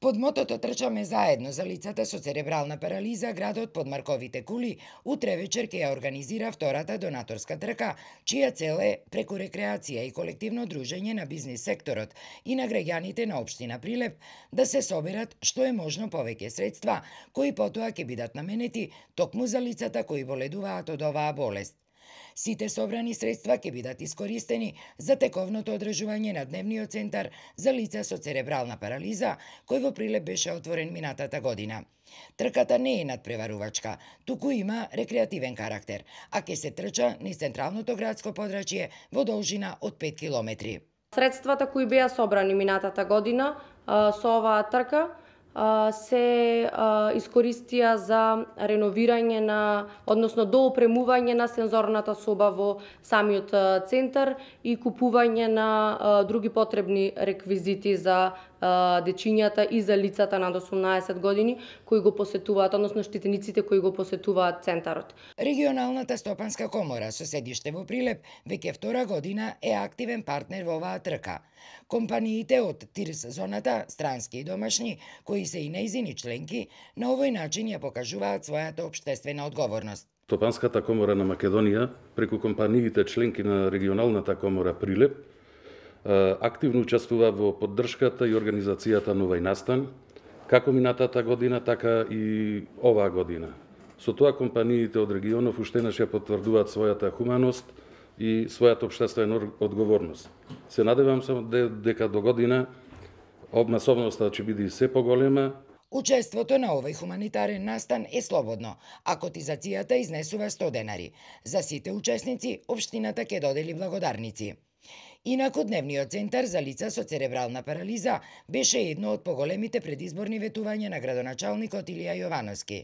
Под мотото Трчаме заедно за лицата со церебрална парализа, градот под Марковите кули утре вечер ќе ја организира втората донаторска трка, чија цел е преку рекреација и колективно дружење на бизнис секторот и на граѓаните на општина Прилеп да се соберат што е можно повеќе средства, кои потоа ќе бидат наменети токму за лицата кои боледуваат од оваа болест. Сите собрани средства ќе бидат искористени за тековното одржување на дневниот центар за лица со церебрална парализа, кој во Прилеп беше отворен минатата година. Трката не е надпреварувачка, туку има рекреативен карактер, а ќе се трча низ централното градско подрачје во должина од 5 километри. Средствата кои беа собрани минатата година со оваа трка се искористија за реновирање односно доопремување на сензорната соба во самиот центар и купување на други потребни реквизити за дечињата и за лицата над 18 години кои го посетуваат, односно штетениците кои го посетуваат центарот. Регионалната стопанска комора со седиште во Прилеп веќе втора година е активен партнер во оваа трка. Компаниите од ТИРС зоната, странски и домашни, кои се и нејзини членки, на овој начин ја покажуваат својата општествена одговорност. Стопанската комора на Македонија, преку компаниите членки на регионалната комора Прилеп, активно учествува во поддршката и организацијата на овој настан, како минатата година, така и оваа година. Со тоа компаниите од регионов уште еднаш ја потврдуваат својата хуманост и својата општествена одговорност. Се надевам дека до година масовноста ќе биде се поголема. Учеството на овој хуманитарен настан е слободно, а котизацијата изнесува 100 денари. За сите учесници, општината ќе додели благодарници. Инаку дневниот центар за лица со церебрална парализа беше едно од поголемите предизборни ветувања на градоначалникот Илија Јовановски.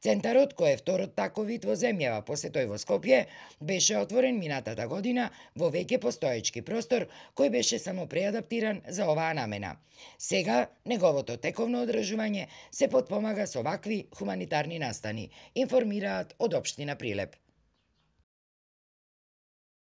Центарот, кој е второт таков вид во земјава после тој во Скопје, беше отворен минатата година во веќе постоечки простор, кој беше само преадаптиран за оваа намена. Сега неговото тековно одржување се потпомага со вакви хуманитарни настани, информираат од општина Прилеп.